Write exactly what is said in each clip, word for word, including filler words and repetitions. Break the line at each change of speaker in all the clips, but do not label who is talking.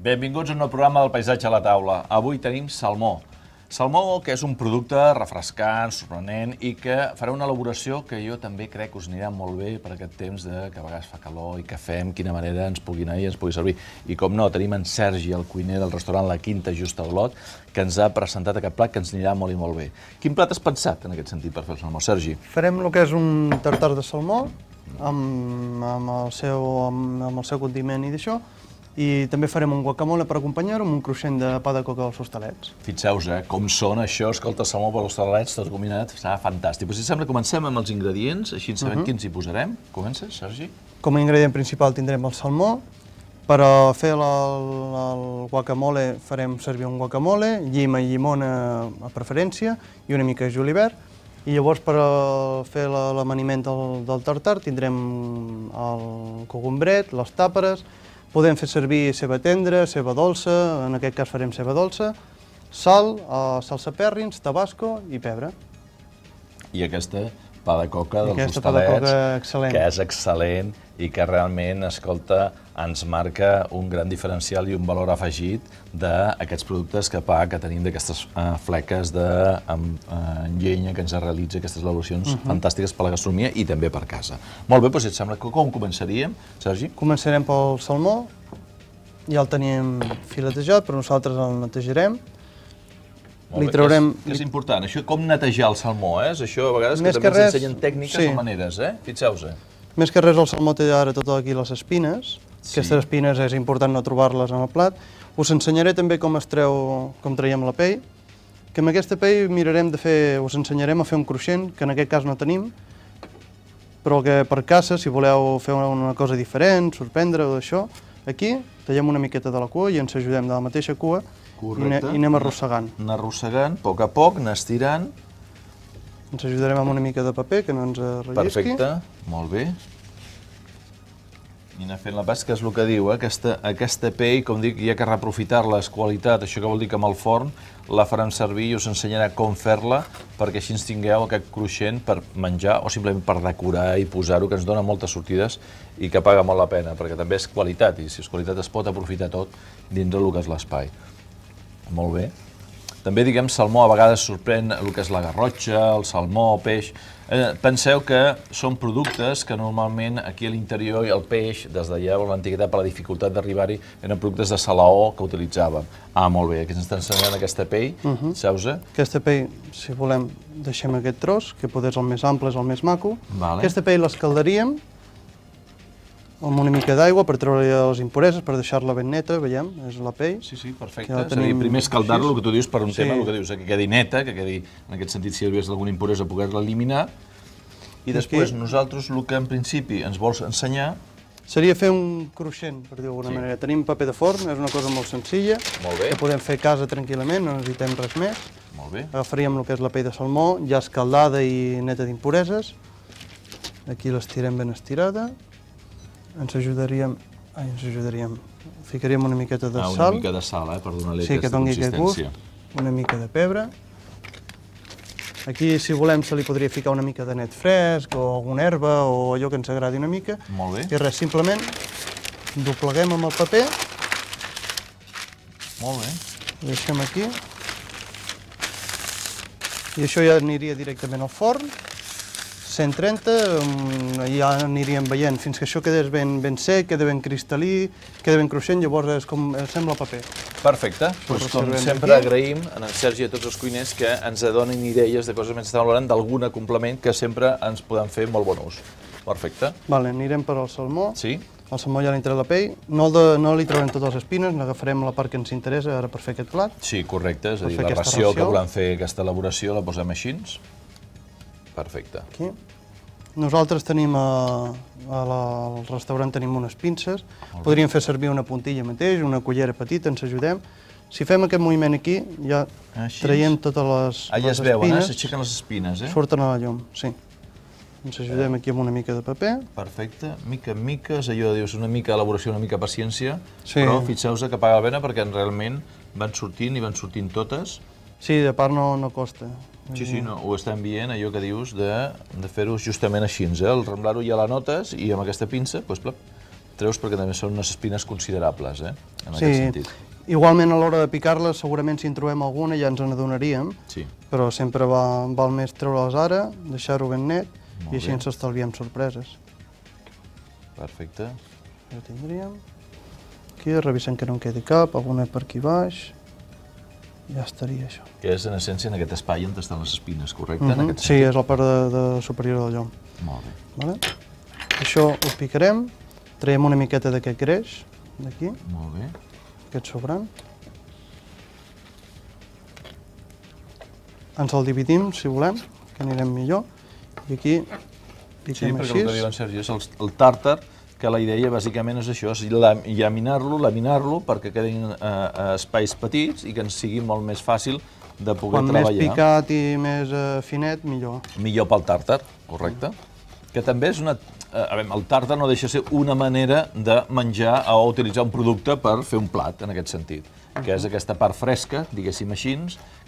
Benvinguts a un nou programa del Paisatge a la Taula. Avui tenim salmó. Salmó, que és un producte refrescant, sorprenent i que farà una elaboració que jo també crec que us anirà molt bé per aquest temps de que a vegades fa calor i que fem, quina manera ens pugui anar i ens pugui servir. I com no, tenim en Sergi, el cuiner del restaurant La Quinta, just al Olot, que ens ha presentat aquest plat que ens anirà molt i molt bé. Quin plat has pensat en aquest sentit per fer el salmó, Sergi?
Farem el que és un tartar de salmó amb, amb, el, seu, amb, amb el seu condiment i d'això, i també farem un guacamole per acompanyar-ho amb un cruixent de pa de coca als hostalets.
Fixeu-vos, eh, com són això, escolta, salmó per als hostalets, tot combinat, serà fantàstic. Però si sembla, comencem amb els ingredients, així sabem uh -huh. quins hi posarem. Comences, Sergi?
Com a ingredient principal tindrem el salmó. Per a fer el, el guacamole farem servir un guacamole, llima i llimona a preferència i una mica de julivert. I llavors per a fer l'amaniment del, del tartar tindrem el cogombret, les tàperes. Podem fer servir ceba tendra, ceba dolça, en aquest cas farem ceba dolça, sal, salsa pèrrins, tabasco i pebre.
I aquesta pa de coca dels
aquesta pa de
hostalets,
coca excel·lent.
que és excel·lent i que realment, escolta, ens marca un gran diferencial i un valor afegit d'aquests productes que pa que tenim d'aquestes uh, fleques de um, uh, llenya que ens realitza aquestes elaboracions uh -huh. fantàstiques per la gastronomia i també per casa. Molt bé, doncs si et sembla, com començaríem, Sergi?
Començarem pel salmó, ja el tenim filetejat, però nosaltres el netejarem.
Li traurem... És, és important, això com netejar el salmó, eh? Això a vegades que també ens ensenyen tècniques
sí.
o maneres, eh? Fixeu-vos.
Més que res el salmó té ara tot aquí les espines. Sí. Aquestes espines és important no trobar-les en el plat. Us ensenyaré també com es treu, com traiem la pell, que amb aquesta pell mirarem de fer, us ensenyarem a fer un cruixent, que en aquest cas no tenim, però que per casa, si voleu fer una cosa diferent, sorprendre-ho d'això, aquí tallem una miqueta de la cua i ens ajudem de la mateixa cua. Correcte. I anem arrossegant.
Anar arrossegant, a poc a poc, anar estirant.
Ens ajudarem amb una mica de paper, que no ens rellisqui.
Perfecte, molt bé. I anar fent la pas, que és el que diu, eh? aquesta, aquesta pell, com dic, hi ha que reaprofitar-la, és qualitat, això que vol dir que amb el forn la farem servir i us ensenyarà com fer-la, perquè així ens tingueu aquest cruixent per menjar o simplement per decorar i posar-ho, que ens dona moltes sortides i que paga molt la pena, perquè també és qualitat, i si és qualitat es pot aprofitar tot dintre del que és l'espai. Molt bé. També, diguem, salmó a vegades sorprèn el que és la garrotxa, el salmó, el peix. Eh, penseu que són productes que normalment aquí a l'interior el peix, des de llavors l'antiguitat per la dificultat d'arribar-hi, eren productes de salaó que utilitzàvem. Ah, molt bé, aquí ens està ensenyant aquesta pell, uh -huh. Saps-ho?
Aquesta pell, si volem, deixem aquest tros, que potser és el més ample, és el més maco.
Vale.
Aquesta pell l'escaldaríem amb una mica d'aigua per treure les impureses, per deixar-la ben neta, veiem, és la pell.
Sí, sí, perfecte. És a dir, primer escaldar-lo, el que tu dius, per un
sí.
tema, el que dius, que quedi neta, que quedi, en aquest sentit, si hi hagués alguna impuresa, poder-la eliminar. I després, Aquí, nosaltres, el que en principi ens vols ensenyar...
Seria fer un cruixent, per dir-ho d'alguna sí. manera. Tenim paper de forn, és una cosa molt senzilla,
molt bé.
que podem fer a casa tranquil·lament, no necessitem res més.
Molt bé.
Agafaríem el que és la pell de salmó, ja escaldada i neta d'impureses. Aquí l'estirem ben estirada. Ens ajudaríem, ai, ens ajudaríem, ficaríem una miqueta de
ah,
sal.
Una mica de sal, eh, per donar-li
sí,
aquesta consistència.
Gust, una mica de pebre. Aquí, si volem, se li podria ficar una mica de net fresc o alguna herba o allò que ens agradi una mica.
Molt bé.
I res, simplement dobleguem amb el paper.
Molt bé.
Ho deixem aquí. I això ja aniria directament al forn. cent trenta, ja aniríem veient fins que això quedés ben, ben sec, queda ben cristal·lí, queda ben cruixent, llavors és com sembla paper.
Perfecte. Pues, com sempre aquí. Agraïm a en Sergi i a tots els cuiners que ens donin idees de coses que estem valorant, d'algun complement que sempre ens podem fer molt bon ús. Perfecte.
Vale, anirem per al salmó.
Sí.
El salmó ja li treu la pell. No, de, no li traurem totes les espines, n'agafarem la part que ens interessa ara per fer aquest plat.
Sí, correcte. És a dir, la ració, ració que volem fer aquesta elaboració la posem així. Perfecte.
Aquí. Nosaltres tenim, a, a la, al restaurant tenim unes pinces, podríem fer servir una puntilla mateix, una cullera petita, ens ajudem. Si fem aquest moviment aquí, ja Així. traiem totes les,
ah, ja
les
es veuen,
espines.
Eh? S'aixequen les espines, eh?
Surten a la llum, sí. Ens ajudem aquí amb una mica de paper.
Perfecte, mica en mica, és allò de dius, una mica elaboració, una mica paciència,
sí.
però fixeu-vos que paga la pena perquè realment van sortint i van sortint totes.
Sí, de part no, no costa.
Sí, sí, no, ho estem veient, allò que dius de, de fer-ho justament així, eh? El remblar-ho ja la notes i amb aquesta pinça, doncs, plop, treus perquè també són unes espines considerables, eh? En
Sí,
aquest sentit.
igualment a l'hora de picar-les, segurament si en trobem alguna ja ens n'adonaríem,
Sí.
però sempre va, val més treure-les ara, deixar-ho ben net,
Molt
i així
bé.
ens estalviem sorpreses.
Perfecte.
Ja tindríem. Aquí, revisem que no en quedi cap, alguna per aquí baix. Ja estaria això.
Que és, en essència, en aquest espai on estan les espines, correcte?
Uh
En
-huh.
aquest
Sí,
sentit?
és la part de, de superior del llom.
Molt bé.
Vale? Això ho picarem, traiem una miqueta d'aquest greix, d'aquí,
Molt bé.
aquest sobrant. Ens el dividim, si volem, que anirem millor. I aquí
Sí,
piquem
perquè
així.
el que diu en Sergi és el, el tàrtar, que la idea bàsicament és això, és lam- llaminar-lo, laminar-lo, perquè quedin eh, espais petits i que ens sigui molt més fàcil de poder
Quan
treballar.
més picat i més eh, finet, millor.
Millor pel tàrtar, correcte? Que també és una... eh, A veure, el tàrtar no deixa de ser una manera de menjar o utilitzar un producte per fer un plat, en aquest sentit, que és aquesta part fresca, diguéssim així,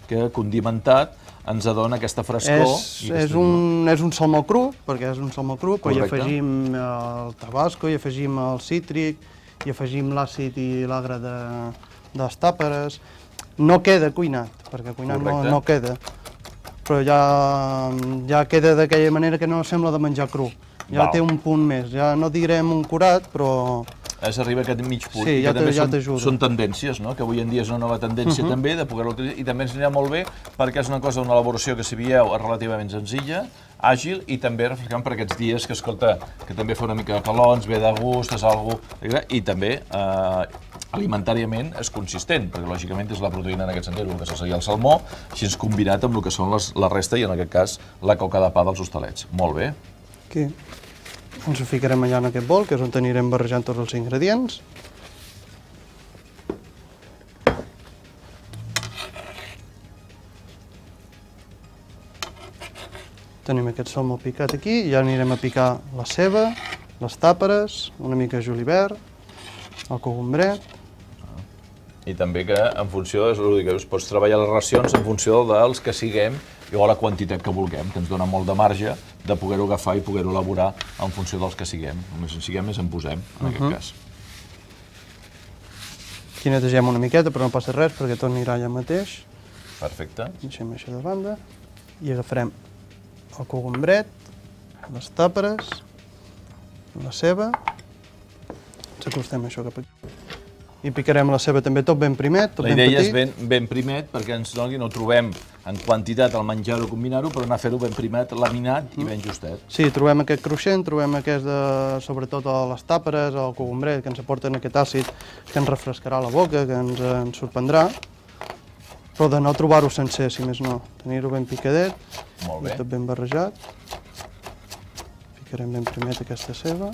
que condimentat ens adona aquesta frescor.
És,
i
és,
aquesta-
un, és un salmó cru, perquè és un salmó cru, però hi
Correcte.
afegim el tabasco, hi afegim el cítric, hi afegim l'àcid i l'agre de, de les tàperes. No queda cuinat, perquè cuinat no,
Correcte.
no queda, però ja, ja queda d'aquella manera que no sembla de menjar cru. Ja
Val.
té un punt més, ja no direm un curat, però
És arriba a aquest mig punt.
Sí,
i que
ja
també
te- ja
són,
t'ajuda.
són tendències, no? Que avui en dia és una nova tendència també de poder-ho utilitzar, i també ens anirà molt bé perquè és una cosa, una elaboració que, si veieu, és relativament senzilla, àgil, i també refrescant per aquests dies que, escolta, que també fa una mica de calons, ve de gust, és algo... i també eh, alimentàriament és consistent, perquè lògicament és la proteïna en aquest sentit, el que seria el salmó, així és combinat amb el que són les, la resta i en aquest cas la coca de pa dels hostalets. Molt bé.
aquí ens ho ficarem allà en aquest bol, que és on anirem barrejant tots els ingredients. Tenim aquest salmó picat aquí, i ja anirem a picar la ceba, les tàperes, una mica de julivert, el cogombret.
I també que en funció, és el que us pots treballar les racions en funció dels que siguem i o la quantitat que vulguem, que ens dona molt de marge de poder-ho agafar i poder-ho elaborar en funció dels que siguem. Només en siguem més en posem, en aquest cas.
Aquí netegem una miqueta, però no passa res, perquè tot anirà allà mateix.
Perfecte.
Deixem això de banda i agafarem el cogombret, les tàperes, la ceba, ens acostem això cap aquí. I picarem la ceba també tot ben primet, tot
La
ben
idea
petit.
és ben, ben primet perquè ens doni, no ho trobem en quantitat al menjar-ho, combinar-ho, però anar a fer-ho ben primet, laminat i ben justet.
Sí, trobem aquest cruixent, trobem aquest de, sobretot a les tàperes, el cogombret, que ens aporten aquest àcid que ens refrescarà la boca, que ens, ens sorprendrà, però de no trobar-ho sencer, si més no. Tenir-ho ben picadet,
Molt bé.
i tot ben barrejat. Ficarem ben primet aquesta ceba.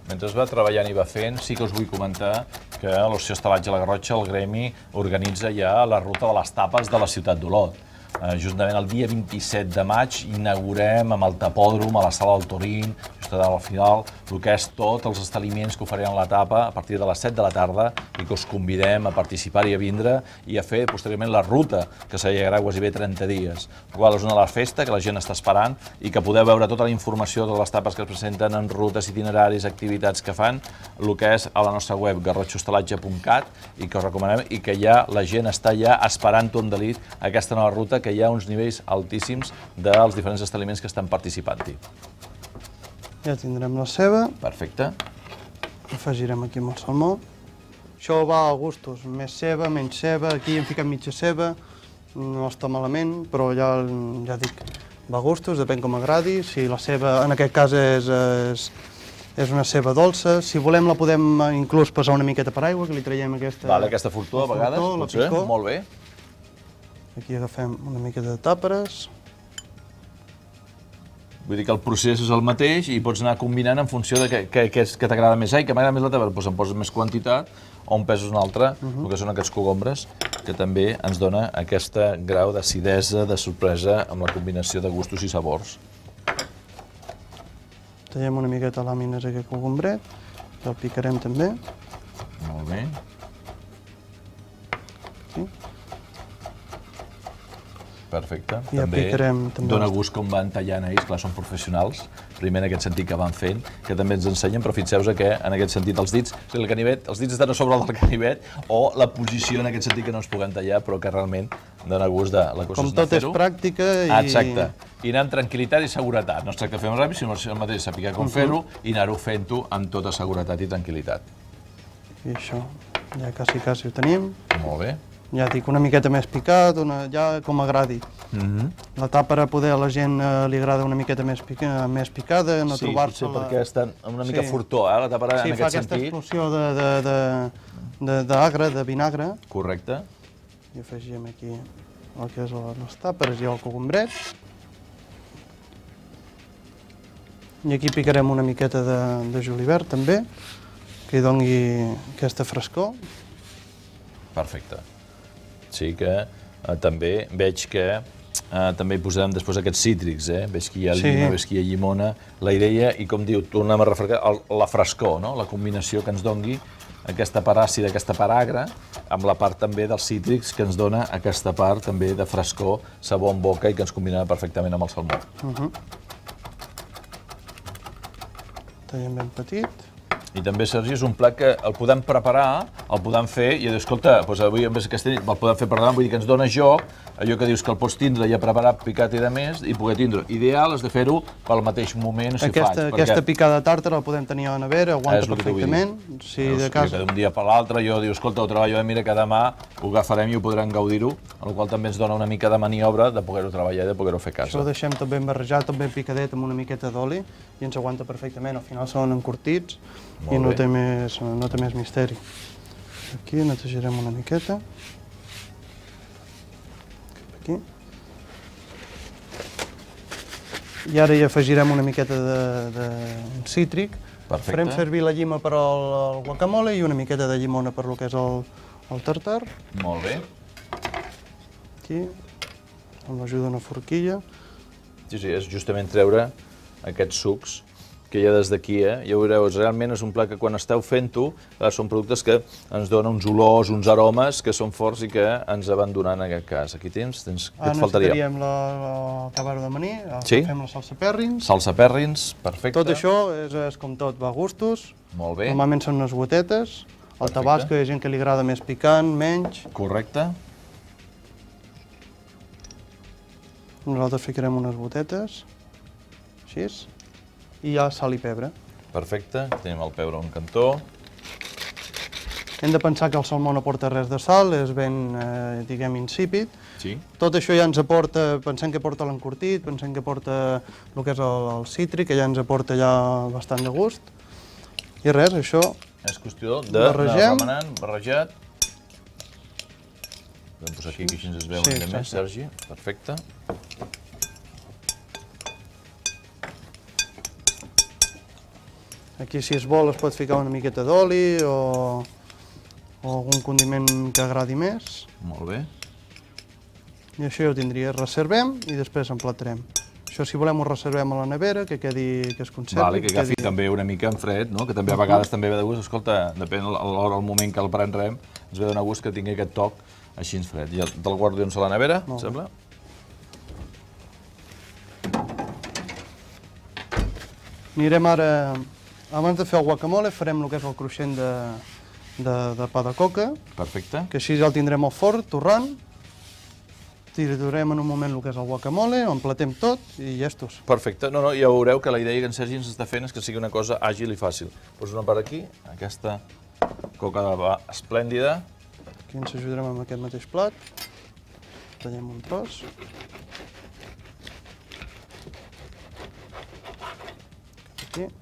Mentre es va treballant i va fent, sí que us vull comentar que a l'Oci Hostalatge La Garrotxa, el gremi, organitza ja la ruta de les tapes de la ciutat d'Olot. Eh, justament el dia vint-i-set de maig inaugurem amb el tapòdrom, a la sala del Torín, just al final, el que és tots els establiments que ofereixen la tapa a partir de les set de la tarda i que us convidem a participar i a vindre i a fer posteriorment la ruta, que s'allargarà quasi trenta dies. La qual és una de les festes que la gent està esperant i que podeu veure tota la informació de les tapes que es presenten en rutes, itineraris, activitats que fan, el que és a la nostra web, garrotxa hostalatge punt cat, i que us recomanem i que ja la gent està ja esperant-ho amb delit aquesta nova ruta, que hi ha uns nivells altíssims dels diferents establiments que estan participant-hi.
Ja tindrem la ceba,
Perfecte.
afegirem aquí amb el salmó. Això va a gustos, més ceba, menys ceba, aquí hem ficat mitja ceba, no està malament, però ja, ja dic, va a gustos, depèn com agradi. Si la ceba, en aquest cas, és, és, és una ceba dolça, si volem la podem inclús passar una miqueta per aigua, que li traiem aquesta...
Vale, aquesta fortuna, a vegades,
fortó, la
potser,
picor.
molt bé.
Aquí agafem una miqueta de tàperes.
Vull dir que el procés és el mateix i pots anar combinant en funció de què, què, què, és- què t'agrada més. Ai, que m'agrada més la teva, doncs en poses més quantitat o en pesos una altra, el que són aquests cogombres, que també ens dona aquest grau d'acidesa, de sorpresa, amb la combinació de gustos i sabors.
Tallem una miqueta làmines aquest cogombret, el picarem també.
Molt bé.
Aquí.
Perfecte.
I ja picarem també
dona
els-
gust com van tallant ells, clar, són professionals, primer en aquest sentit que van fent, que també ens ensenyen, però fixeu-vos que en aquest sentit els dits, o sigui, el canivet, els dits estan a sobre del canivet, o la posició en aquest sentit que no ens puguem tallar, però que realment dona gust de la cosa.
Com tot és pràctica i...
Exacte. I anar amb tranquil·litat i seguretat. No es tracta de fer-ho ràpid, sinó el mateix saber com fer-ho i anar-ho fent-ho amb tota seguretat i tranquil·litat.
I això, ja quasi, quasi ho tenim.
Molt bé.
Ja dic, una miqueta més picat, una, ja com agradi. La tàpera, poder, a la gent eh, li agrada una miqueta més, pica, més picada, no
sí,
trobar-se...
Sí, perquè estan una mica sí. furtó, eh, la tàpera
sí,
en aquest sentit. Sí,
fa aquesta explosió d'agre, de, de, de vinagre.
Correcte.
I afegim aquí el que és les tàperes i el cogombret. I aquí picarem una miqueta de, de julivert, també, que hi doni aquesta frescor.
Perfecte. Sí que eh, també veig que eh, també hi posarem després aquests cítrics, eh? Veig que hi ha lima, sí. Veig que hi ha llimona, la idea, i com diu, tornem a refrescar, el, la frescor, no? La combinació que ens doni aquesta part àcida, aquesta part agra, amb la part també dels cítrics que ens dona aquesta part també de frescor, sabor en boca i que ens combinarà perfectament amb el salmó.
Uh -huh. Tallem ben petit.
I també, Sergi, és un plat que el podem preparar, el podem fer, i dius, escolta, doncs avui en vez aquesta nit el podem fer per demà, vull dir que ens dona joc, allò que dius que el pots tindre ja preparat, picat i de més, i poder tindre. Ideal és de fer-ho pel mateix moment, si
aquesta,
faig.
Aquesta
perquè...
picada tàrtara la podem tenir a la nevera, aguanta perfectament.
Si de cas... D'un dia per l'altre, jo dius, escolta, ho treballo, eh, mira que demà ho agafarem i ho podrem gaudir-ho, el qual també ens dona una mica de maniobra de poder-ho treballar i de poder-ho fer a casa.
Això ho deixem tot ben barrejat, tot ben picadet, amb una miqueta d'oli, i ens aguanta perfectament. Al final són encurtits i no té, més, no té més misteri. Aquí netejarem una miqueta. Aquí. I ara hi afegirem una miqueta de, de cítric.
Perfecte.
Farem servir la llima per al guacamole i una miqueta de llimona per lo que és el, el tartar.
Molt bé.
Aquí, amb l'ajuda d'una forquilla.
Sí, sí, és justament treure aquests sucs que hi ha des d'aquí, eh? Ja ho veureu, realment és un plat que quan esteu fent-ho, són productes que ens donen uns olors, uns aromes que són forts i que ens abandonen en aquest cas. Aquí tens, tens què et faltaria?
Ara necessitaríem el cabaro de maní,
sí?
Fem la salsa pèrrins.
Salsa pèrrins, perfecte.
Tot això és, és com tot, va a gustos.
Molt bé.
Normalment són unes gotetes. El tabasco hi ha gent que li agrada més picant, menys.
Correcte.
Nosaltres ficarem unes gotetes, així. I ja sal i pebre.
Perfecte, tenim el pebre a un cantó.
Hem de pensar que el salmó no porta res de sal, és ben, eh, diguem, insípid.
Sí.
Tot això ja ens aporta, pensem que porta l'encurtit, pensem que porta el que és el, el cítric, que ja ens aporta ja bastant de gust. I res, això...
És qüestió de remenant, barrejat. Vam posar aquí, que així ens es veu una mica més, Sergi. Perfecte.
Aquí, si es vol, es pot ficar una miqueta d'oli o, o algun condiment que agradi més.
Molt bé.
I això ja ho tindria. Reservem i després emplatarem. Això, si volem, ho reservem a la nevera, que quedi, que es conservi.
Vale, que agafi també una mica en fred, no? Que també a vegades també ve de gust. Escolta, depèn de l'hora, el moment que el prendrem, ens ve de donar gust que tingui aquest toc així en fred. I te'l guardo dins a la nevera, em sembla?
Anirem ara... Abans de fer el guacamole farem el que és el cruixent de, de, de pa de coca.
Perfecte.
Que així ja el tindrem al forn, torrant. Triturem en un moment el que és el guacamole, ho emplatem tot i llestos.
Perfecte. No, no, ja veureu que la idea que en Sergi ens està fent és que sigui una cosa àgil i fàcil. Poso una part aquí, aquesta coca de pa esplèndida.
Aquí ens ajudarem amb aquest mateix plat. Tallem un tros. Aquí.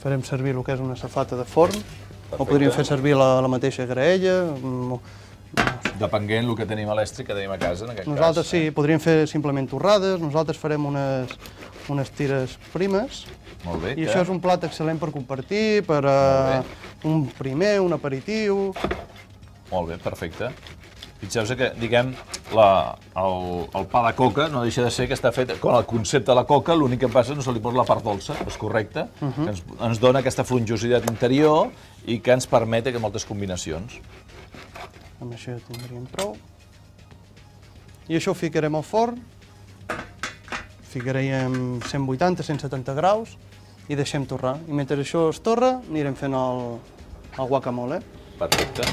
Farem servir el que és una safata de forn. Perfecte. O podríem fer servir la, la mateixa graella.
Depenent del que tenim a l'estri que tenim a casa, en aquest
nosaltres,
cas.
Sí, podríem fer simplement torrades. Nosaltres farem unes, unes tires primes.
Molt bé.
I que... això és un plat excel·lent per compartir, per uh, un primer, un aperitiu.
Molt bé, perfecte. Fixeu-vos que, diguem, la, el, el pa de coca no deixa de ser que està fet con el concepte de la coca, l'únic que passa no se li posa la part dolça, és correcte, uh -huh. que ens, ens dona aquesta fronjositat interior i que ens permet que moltes combinacions.
Amb això ja tindríem prou. I això ho ficarem al forn, ficaríem cent vuitanta a cent setanta graus i deixem torrar. I mentre això es torra, anirem fent el, el guacamole.
Perfecte.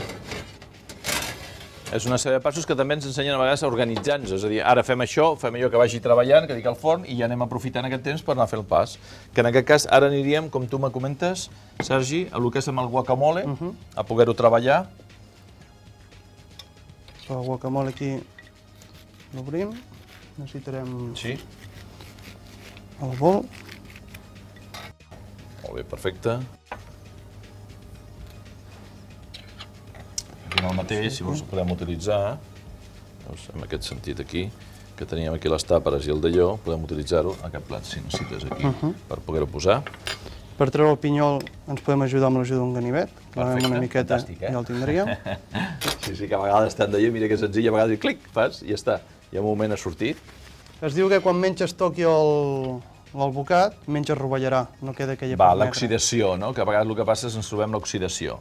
És una sèrie de passos que també ens ensenyen a vegades a organitzar-nos, és a dir, ara fem això, fem allò que vagi treballant, que dic al forn, i ja anem aprofitant aquest temps per anar a fer el pas. Que en aquest cas ara aniríem, com tu me comentes, Sergi, a lo que és amb el guacamole, uh -huh. a poder-ho treballar.
El guacamole aquí l'obrim, necessitarem
sí.
el bol.
Molt bé, perfecte. Aquí el mateix, si vols ho podem utilitzar, doncs, en aquest sentit aquí, que teníem aquí les tàperes i el d'allò, podem utilitzar-ho, aquest plat, si necessites aquí, uh -huh. per poder-ho posar.
Per treure el pinyol ens podem ajudar amb l'ajuda d'un ganivet,
perfecte,
una miqueta
fantàstic, eh?
ja el tindríem.
Sí, sí, que a vegades estan d'allò, mira que senzill, a vegades clic, fas, i ja està, i en un moment ha sortit.
Es diu que quan menges toqui el... l'alvocat, menys es rovellarà, no queda aquella
Va, l'oxidació, no? Que a vegades el que passa és que ens trobem l'oxidació.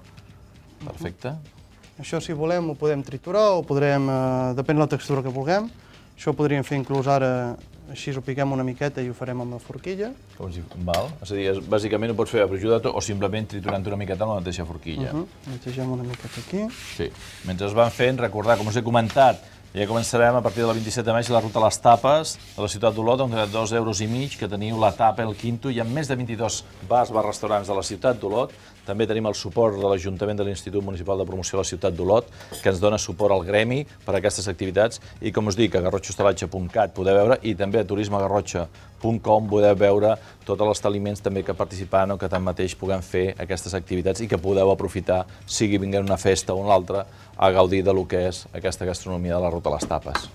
Perfecte. Uh -huh.
Això, si volem, ho podem triturar o podrem, eh, depèn de la textura que vulguem. Això ho podríem fer inclús ara, així ho piquem una miqueta i ho farem amb la forquilla.
Com si... Val. És a dir, bàsicament ho pots fer ajudat o simplement triturant una miqueta amb la mateixa forquilla.
Uh -huh. Netegem una miqueta aquí.
Sí. Mentre es van fent, recordar, com us he comentat, ja començarem a partir del vint-i-set de maig la ruta a les tapes de la ciutat d'Olot, on de dos euros i mig, que teniu la tapa, el quinto, hi ha més de vint-i-dos bars, bars, restaurants de la ciutat d'Olot. També tenim el suport de l'Ajuntament de l'Institut Municipal de Promoció de la ciutat d'Olot, que ens dona suport al gremi per a aquestes activitats. I com us dic, a garrotxa hostalatge punt cat podeu veure, i també a turisme garrotxa punt com podeu veure tots els establiments també que participaran o que tanmateix puguem fer aquestes activitats i que podeu aprofitar, sigui vinguent una festa o una altra, a gaudir de lo que és aquesta gastronomia de la ruta a les tapes.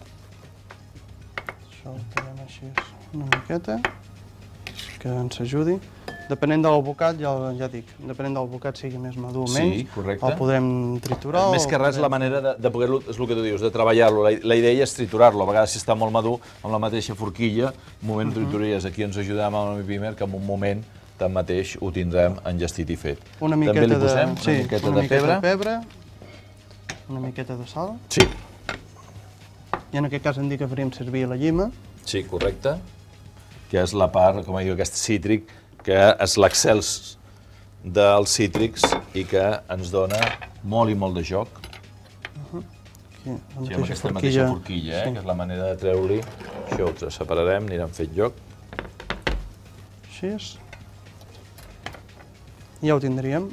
Això ho quedem així una miqueta, que ens ajudi. Depenent de l'alvocat, ja, ja dic, depenent de l'alvocat sigui més madur o menys,
sí, correcte.
El podrem triturar.
Més que res, podem... la manera de, de poder-lo, és el que tu dius, de treballar-lo. La, la idea és triturar-lo. A vegades, si està molt madur, amb la mateixa forquilla, un moment uh -huh. trituries. Aquí ens ajudem amb el primer, que en un moment tanmateix ho tindrem enllestit i fet.
Una miqueta
També li posem
de, sí,
una miqueta
una
de pebre.
de pebre, una miqueta de sal.
Sí.
I en aquest cas hem dit que faríem servir la llima.
Sí, correcte. Que és la part, com diu, aquest cítric, que és l'excels dels cítrics i que ens dona molt i molt de joc.
Uh -huh. Aquí, la
sí, amb aquesta forquilla, mateixa forquilla, eh? Sí. Que és la manera de treure-li. Això ho separarem, anirem fent joc.
Així és. I ja ho tindríem.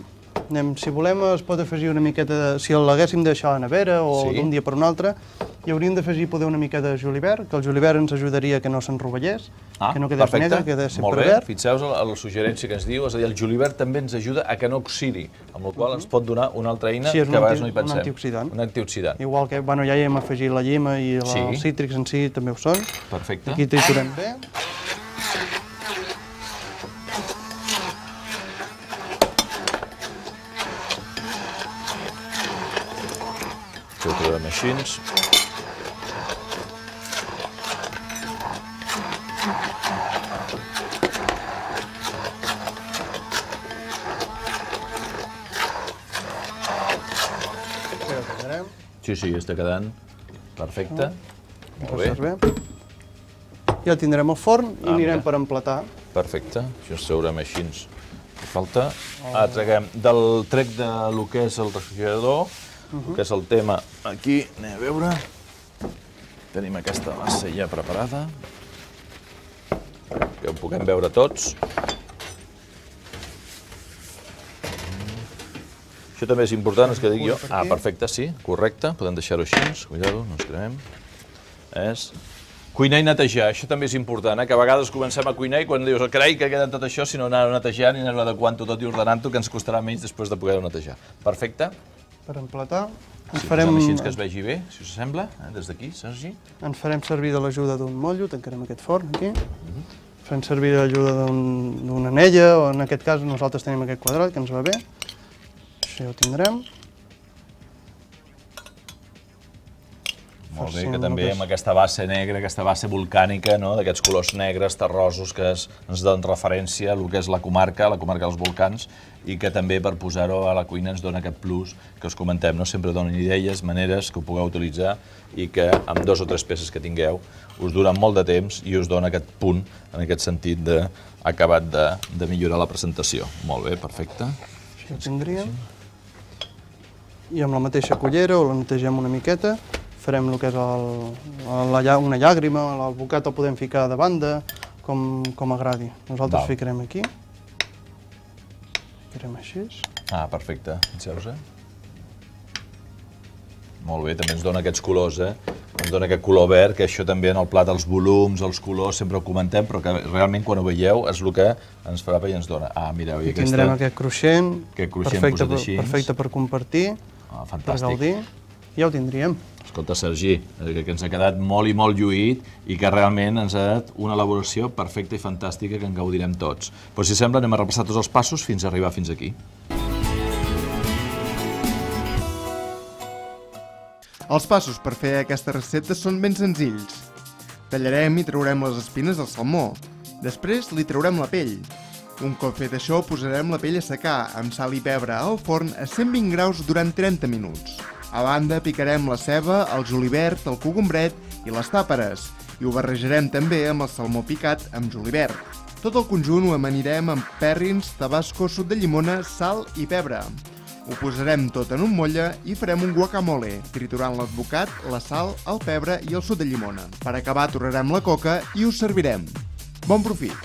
Anem, si volem, es pot afegir una miqueta de... Si l'haguéssim de deixar a la nevera o sí. d'un dia per un altre, hi hauríem d'afegir poder una mica de julivert, que el julivert ens ajudaria que no se'n rovellés,
ah,
que no quedés
perfecte.
negre, que quedés sempre
Molt bé.
verd.
Fixeu-vos la, la suggerència que ens diu, és a dir, el julivert també ens ajuda a que no oxidi, amb la qual cosa ens pot donar una altra eina
sí,
que a vegades no hi pensem.
Un antioxidant.
Un antioxidant.
Igual que, bueno, ja hi hem afegit la llima i la, sí. els cítrics en si també ho són.
Perfecte.
Aquí triturem bé.
Ho trobem així. Sí, sí, està quedant perfecte. Molt bé.
Ja tindrem el forn i anirem per emplatar.
Perfecte, això ens traurem així. Falta. Ara traguem del trec de lo que és el refrigerador, que és el tema aquí, anem a veure. Tenim aquesta massa ja preparada, que ho puguem veure tots. Això també és important, és que dic jo. Ah, perfecte, sí, correcte, podem deixar-ho així, cuidado, no ens cremem. És cuinar i netejar, això també és important, que a vegades comencem a cuinar i quan dius, carai, que queda tot això, si no anar-ho netejant i anar-ho adequant-ho tot i ordenant-ho, que ens costarà menys després de poder-ho netejar. Perfecte.
Per emplatar, ens
Si
farem...
posem així que es vegi bé, si us sembla, des d'aquí, Sergi.
Ens farem servir de l'ajuda d'un motllo, tancarem aquest forn aquí. Farem servir de l'ajuda d'una anella, o en aquest cas nosaltres tenim aquest quadrat, que ens va bé. Això ja ho tindrem.
Molt bé,
farcim
que
el
també
que és-
amb aquesta base negra, aquesta base volcànica, no? D'aquests colors negres, terrosos, que es, ens donen referència a el que és la comarca, la comarca dels volcans, i que també per posar-ho a la cuina ens dona aquest plus que us comentem, no? Sempre donen idees, maneres que ho pugueu utilitzar i que amb dos o tres peces que tingueu us duren molt de temps i us dona aquest punt, en aquest sentit d'acabat de, de millorar la presentació. Molt bé, perfecte.
Així ho tindríem. I amb la mateixa cullera ho la netegem una miqueta, farem el que és el, la, lla- una llàgrima, el bocat el podem ficar de banda, com, com agradi. Nosaltres
Val.
ficarem aquí. Ficarem així.
Ah, perfecte. Fixeu-vos, eh? Molt bé, també ens dona aquests colors, eh? Ens dona aquest color verd, que això també en el plat, els volums, els colors, sempre ho comentem, però que realment quan ho veieu és el que ens farà i ens dona. Ah, mireu, i
I tindrem
aquesta...
aquest cruixent,
Aquest cruixent
perfecte,
posat així.
perfecte per compartir,
Ah,
per
fantàstic.
gaudir. Ja ho tindríem.
Escolta, Sergi, eh, que ens ha quedat molt i molt lluït i que realment ens ha dat una elaboració perfecta i fantàstica que en gaudirem tots. Però si sembla, anem a repassar tots els passos fins a arribar fins aquí.
Els passos per fer aquesta recepta són ben senzills. Tallarem i traurem les espines del salmó. Després li traurem la pell. Un cop fet això, posarem la pell a secar amb sal i pebre al forn a cent vint graus durant trenta minuts. A banda, picarem la ceba, el julivert, el cogombret i les tàperes, i ho barrejarem també amb el salmó picat amb julivert. Tot el conjunt ho amanirem amb pèrrins, tabasco, suc de llimona, sal i pebre. Ho posarem tot en un motlle i farem un guacamole, triturant l'advocat, la sal, el pebre i el suc de llimona. Per acabar, torrarem la coca i ho servirem. Bon profit!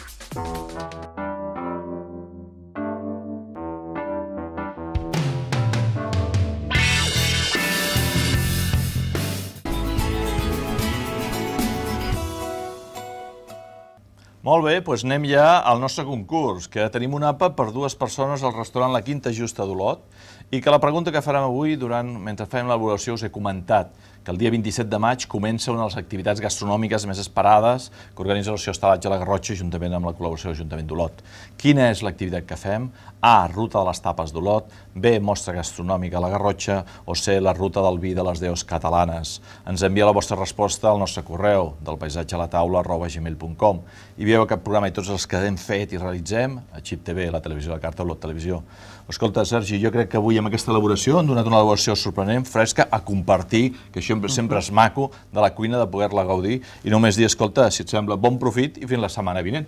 Molt bé, doncs anem ja al nostre concurs, que tenim un àpat per dues persones al restaurant La Quinta Justa d'Olot i que la pregunta que farem avui, durant, mentre fem l'elaboració, us he comentat que el dia vint-i-set de maig comença una de les activitats gastronòmiques més esperades que organitza l'Associació Estalatge a la Garrotxa juntament amb la col·laboració de l'Ajuntament d'Olot. Quina és l'activitat que fem? A. Ruta de les tapes d'Olot, B. Mostra gastronòmica a la Garrotxa o C. La ruta del vi de les deus catalanes. Ens envia la vostra resposta al nostre correu del paisatge a la taula arroba gmail punt com i veieu aquest programa i tots els que hem fet i realitzem a Xip T V, la televisió de la carta, Olot Televisió. Escolta, Sergi, jo crec que avui amb aquesta elaboració hem donat una elaboració sorprenent, fresca, a compartir, que això sempre és maco, de la cuina, de poder-la gaudir, i només dir, escolta, si et sembla, bon profit i fins la setmana vinent.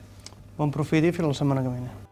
Bon profit i fins la setmana que ve.